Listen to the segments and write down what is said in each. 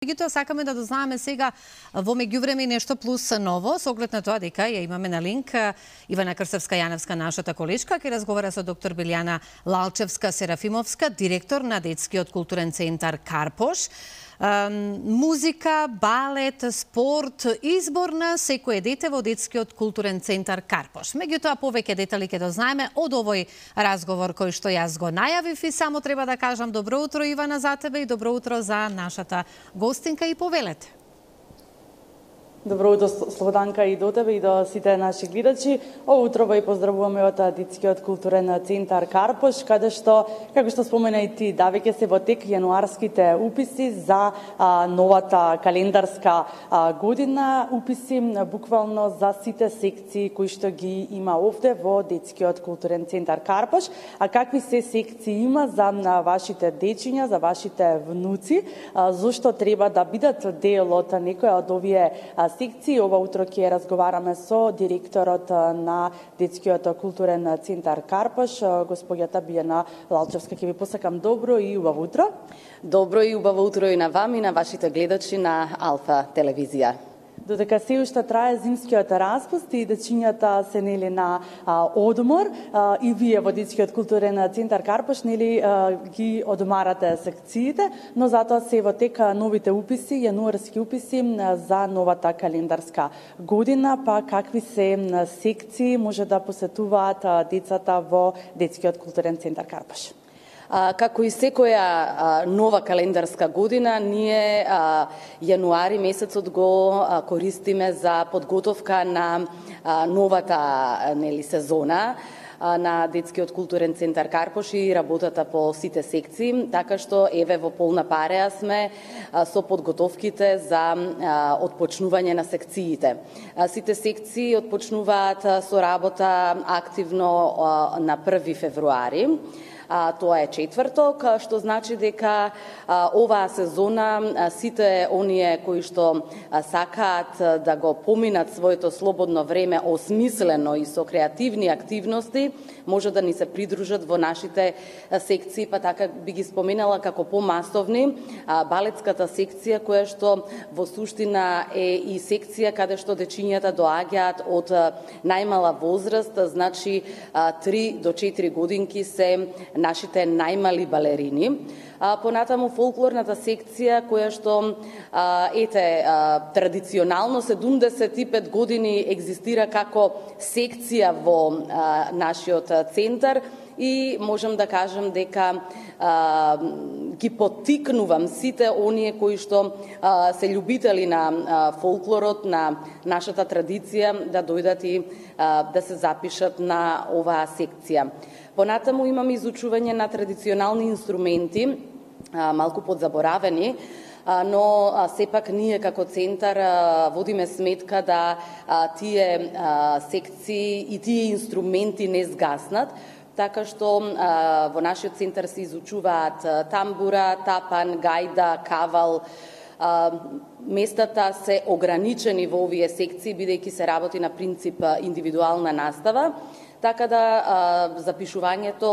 Меѓутоа, сакаме да дознаеме сега во меѓувреме нешто плюс ново, со оглед на тоа дека ја имаме на линк Ивана Крсевска-Јаневска, нашата колешка, ќе разговара со доктор Билјана Лалчевска-Серафимовска, директор на Детскиот културен центар Карпош. Музика, балет, спорт, избор на секое дете во Детскиот културен центар Карпош. Меѓутоа, повеќе детали ќе дознаеме од овој разговор кој што јас го најавив и само треба да кажам добро утро, Ивана, за тебе и добро утро за нашата гостинка и повелете. Добро утро, Слободанка, и до тебе и до сите наши гледачи. Ово утро ви поздравуваме од Детскиот културен центар Карпош, каде што, како што спомена и ти, да веќе се во тек јануарските уписи за новата календарска година, уписи буквално за сите секции кои што ги има овде во Детскиот културен центар Карпош. А какви се секции има за вашите дечиња, за вашите внуци, зошто треба да бидат дел од некоја од овие секции. Ова утро ќе разговараме со директорот на Детскиот културен центар Карпош, господјата Билјана Лалчевска. Ќе ви посакам добро и убаво утро. Добро и убаво утро и на вам и на вашите гледачи на Алфа телевизија. Додека се уште трае зимскиот распуст и дечињата се нели на одмор, и вие во Детскиот културен центар Карпош нели ги одмарате секциите, но затоа се во тек новите уписи, јануарски уписи за новата календарска година. Па какви се секции може да посетуваат децата во Детскиот културен центар Карпош? Како и секоја нова календарска година, ние јануари месецот го користиме за подготовка на новата сезона на Детскиот културен центар Карпош и работата по сите секции, така што еве во полна пареа сме со подготовките за отпочнување на секциите. Сите секции отпочнуваат со работа активно на 1 февруари. Тоа е четврток, што значи дека оваа сезона сите оние кои што сакаат да го поминат своето слободно време осмислено и со креативни активности, може да ни се придружат во нашите секции, па така би ги споменала како помасовни балетската секција, која што во суштина е и секција каде што дечињата доаѓаат од најмала возраст, значи 3 до 4 годинки се нашите најмали балерини. Понатаму фолклорната секција, која што традиционално 75 години екзистира како секција во нашиот центар, и можам да кажам дека ги поттикнувам сите оние кои што се љубители на фолклорот, на нашата традиција, да дојдат и да се запишат на оваа секција. Понатаму имаме изучување на традиционални инструменти, малку подзаборавени, но сепак ние како центар водиме сметка да тие секции и тие инструменти не згаснат, така што во нашиот центар се изучуваат тамбура, тапан, гајда, кавал. Местата се ограничени во овие секции, бидејќи се работи на принцип индивидуална настава, така да запишувањето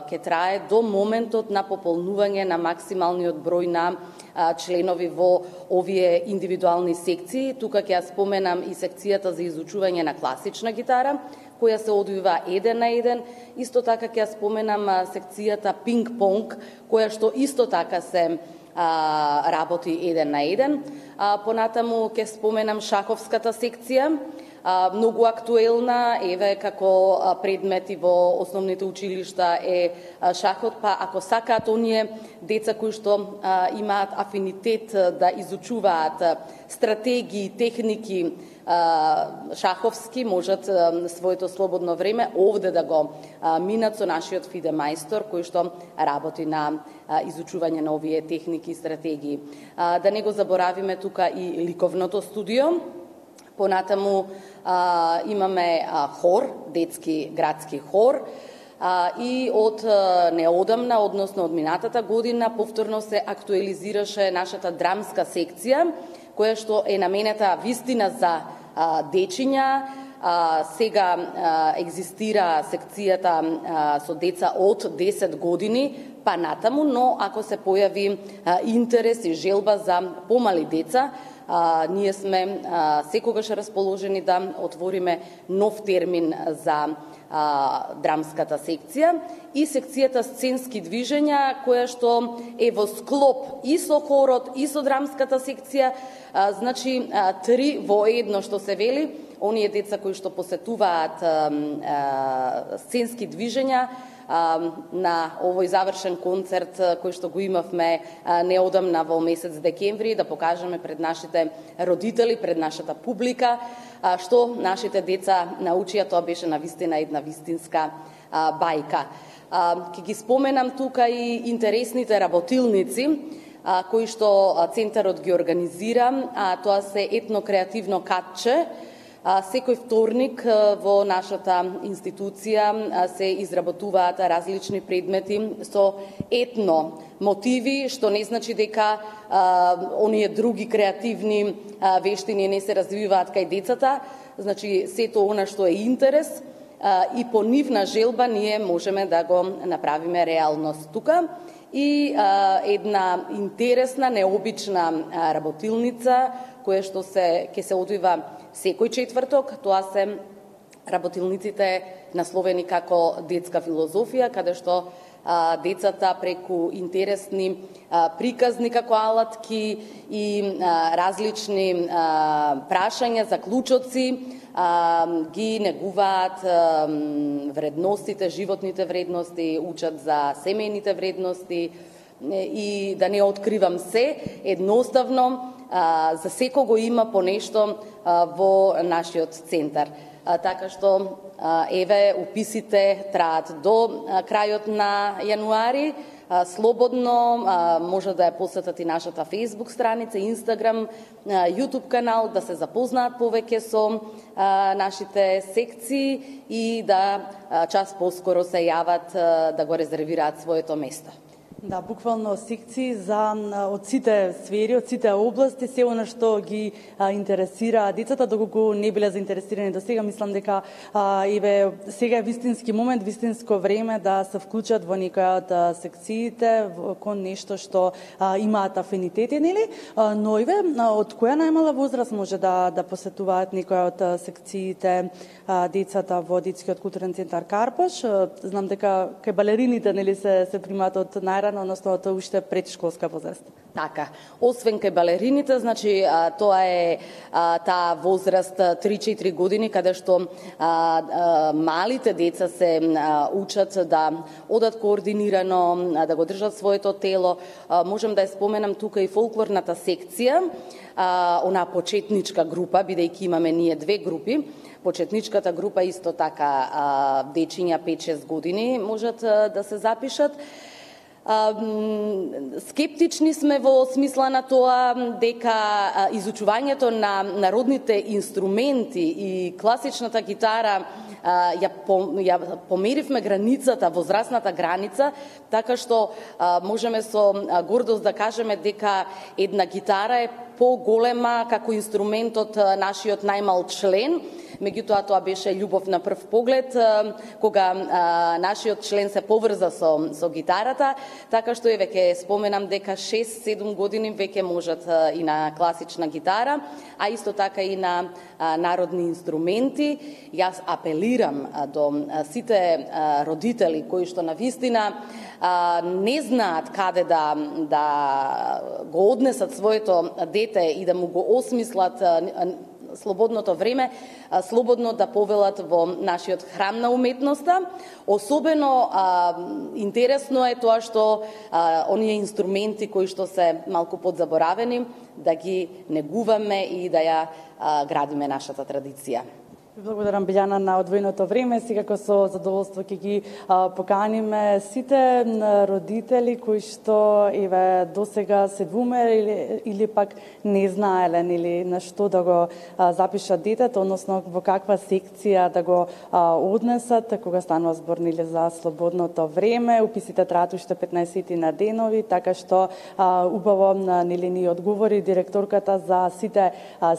ќе трае до моментот на пополнување на максималниот број на членови во овие индивидуални секции. Тука ќе ја споменам и секцијата за изучување на класична гитара, која се одвива 1 на 1. Исто така ќе ја споменам секцијата пинг-понг, која што исто така се работи 1 на 1. Понатаму ќе споменам шаховската секција, многу актуелна, еве како предмети во основните училишта е шахот, па ако сакаат оние деца кои што имаат афинитет да изучуваат стратегии, техники шаховски, можат своето слободно време овде да го минат со нашиот фиде мајстор, кој што работи на изучување на овие техники и стратегии. Да не го заборавиме тука и ликовното студио. Понатаму имаме хор, детски градски хор, и од неодамна, односно од минатата година, повторно се актуализираше нашата драмска секција, која што е наменета вистина за дечиња. Сега екзистира секцијата со деца од 10 години па натаму, но ако се појави интерес и желба за помали деца, ние сме секогаш расположени да отвориме нов термин за драмската секција и секцијата сценски движења, која што е во склоп и со хорот и со драмската секција, значи три во едно што се вели, оние деца кои што посетуваат сценски движења на овој завршен концерт кој што го имавме неодамна во месец декември, да покажеме пред нашите родители, пред нашата публика, што нашите деца научија. Тоа беше навистина една вистинска бајка. Ќе ги споменам тука и интересните работилници кои што центарот ги организира. Тоа се етно-креативно катче. Секој вторник во нашата институција се изработуваат различни предмети со етно мотиви, што не значи дека оние други креативни вештини не се развиваат кај децата. Значи сето она што е интерес и по нивна желба ние можеме да го направиме реалност тука. И една интересна, необична работилница која што ќе се одвива секој четврток. Тоа се работилниците насловени како детска филозофија, каде што децата преку интересни приказни како алатки и различни прашања, заклучоци ги негуваат вредностите, животните вредности, учат за семејните вредности и да не откривам се, едноставно за секого има по нешто во нашиот центар. Така што, еве, уписите траат до крајот на јануари. Слободно може да ја посетат и нашата Facebook страница, Instagram, YouTube канал, да се запознаат повеќе со нашите секции и да час поскоро се јават да го резервираат своето место. Да, буквално секции од сите сфери, од сите области, се она што ги интересира децата, доколку не биле заинтересирани до сега. Мислам дека еве сега е вистински момент, вистинско време да се вклучат во некоја од секциите, кон нешто што имаат афинитети, нели? Но еве од која најмала возраст може да посетуваат некоја од секциите децата во детскиот културен центар Карпош? Знам дека кај балерините, нели, се примаат од најрано, односно тоа уште предшколска возраст. Така, освен кај балерините, значи тоа е таа возраст 3-4 години, каде што малите деца се учат да одат координирано, да го држат своето тело. Можам да ја споменам тука и фолклорната секција, онаа почетничка група, бидејќи имаме ние две групи. Почетничката група исто така дечиња 5-6 години можат да се запишат. Скептични сме во смисла на тоа дека изучувањето на народните инструменти и класичната гитара ја померивме границата, возрастната граница, така што можеме со гордост да кажеме дека една гитара е поголема како инструмент од нашиот најмал член. Меѓутоа, тоа беше љубов на прв поглед, кога нашиот член се поврза со гитарата, така што еве ќе споменам дека 6-7 години веќе можат и на класична гитара, а исто така и на народни инструменти. Јас апелирам до сите родители кои што навистина не знаат каде да го однесат своето дете и да му го осмислат слободното време, слободно да повелат во нашиот храм на уметноста. Особено интересно е тоа што оние инструменти кои што се малку подзаборавени, да ги негуваме и да ја градиме нашата традиција. Благодарам, Билјана, на одвоеното време. Секако со задоволство ќе ги поканиме сите родители кои што еве досега се двумериле или пак не знаеле нели на што да го запишат детето, односно во каква секција да го однесат кога станува збор нели за слободното време. Уписите траат уште 15 на денови, така што убаво нели ни одговори директорката за сите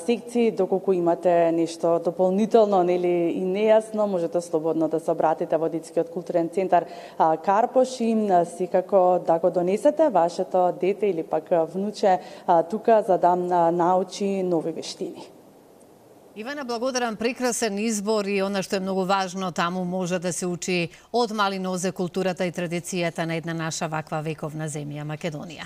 секции, доколку имате нешто дополнително евентуално нели и нејасно, можете слободно да се обратите во Детскиот културен центар Карпош и секако да го донесете вашето дете или пак внуче тука за да научи нови вештини. Ивана, благодарам, прекрасен избор и она што е многу важно, таму може да се учи од мали нозе културата и традицијата на една наша ваква вековна земја, Македонија.